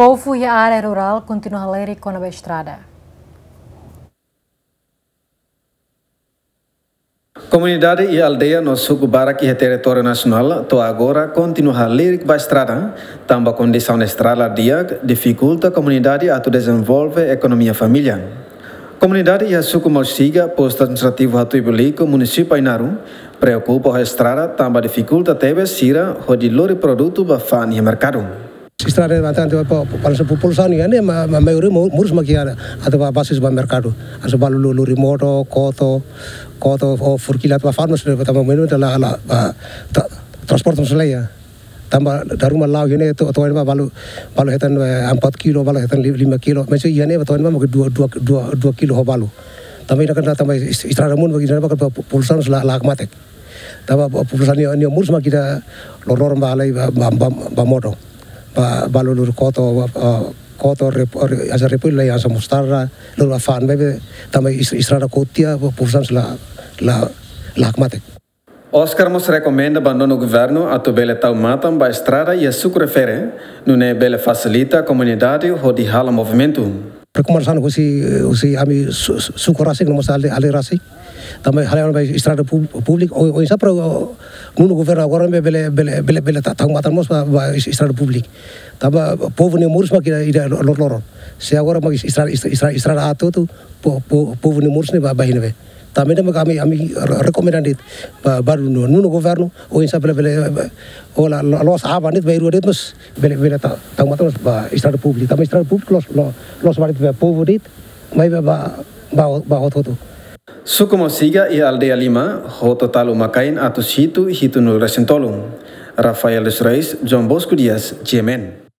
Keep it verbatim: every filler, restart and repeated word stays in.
Povu iha área rurál kontinua halerik kona-ba estrada. Komunidade iha aldeia no suku barak iha territóriu nasionál to'o agora kontinua halerik ba estrada, tanba kondisaun estrada di'ak difikulta komunidade atu dezenvolve ekonomia família. Komunidade iha suku Mausiga, postu administrativu Hatuibelico, munisípiu Ainaro, preokupa ho estrada tanba difikulta tebes sira hodi lori produtu ba fa'an iha merkadu. Estrada ne'e bastante ba, ba, ba populasaun iha ne'e, ma, ma maioria mo-, moris mak iha, atu ba basis ba merkadu. Atu ba lori, lori modo, koto, koto, ou furkila atu ba fa'an, mas tanba maioria la, la, ba, tra-, transporte mós la iha. Tanba dala ruma la'o iha ne'e to'o, to'o iha ne'ebá balu, balu hetan, eh, empat kilo, balu hetan li-, lima kilo. Mas iha ne'e to'o iha ne'ebá mak dua, dua, dua, dua kilo ho balu. Tanba iha ne'e kan tanba es-, estrada monu mak iha ne'ebá mak po-, populasaun la, la hakmatek. Tanba po-, populasaun nia, nia moris mak iha loroloron ba halai ba, ba, ba, ba modo. Ba, balu lori koto, ba, ah, koto, rep-, re-, hanesan repollu, hanesan mostarda, lori ba fa'an, maibé tanba es-, estrada ko'alia, po-, populasaun la, la, la hakmatek. Oscar mós rekomenda ba nonu governu atu bele tau matan ba estrada iha suku refere, nune'e bele fasilita komunidade hodi halo movimentu. Rekomendasaun husi, husi ami su-, su-, suku rasik no mós aldeia, aldeia rasik. Tanba halo ba estrada pub-, públiku, o, oinsá para, o, nonu governu agora bele, bele, bele, bele ta-, tau matan mós ba, ba es-, estrada públiku. Tanba povu nia moris mak iha, iha loroloron. Se agora mak estrada, estrada, estrada aat hotu, po-, po-, povu nia moris ne'e ba, ba iha ne'ebé. Tanba ne'e mak ami, ami re-, rekomenda de'it ba, ba nonu, nonu governu, oinsá bele, bele, ba, o la, la, loos aban de'it, ba rua de'it mós, bele, bele ta-, tau matan mós ba estrada públiku. Tanba estrada públiku loos, lo-, loos ba de'it ba povu de'it, maibé ba, ba, ba hotu-hotu. Suku Mausiga iha aldeia lima, hotu-tolu mak kain atus hitu, hitunulu resin tolu. Rafael dos Reis, João Bosco Dias, G M N.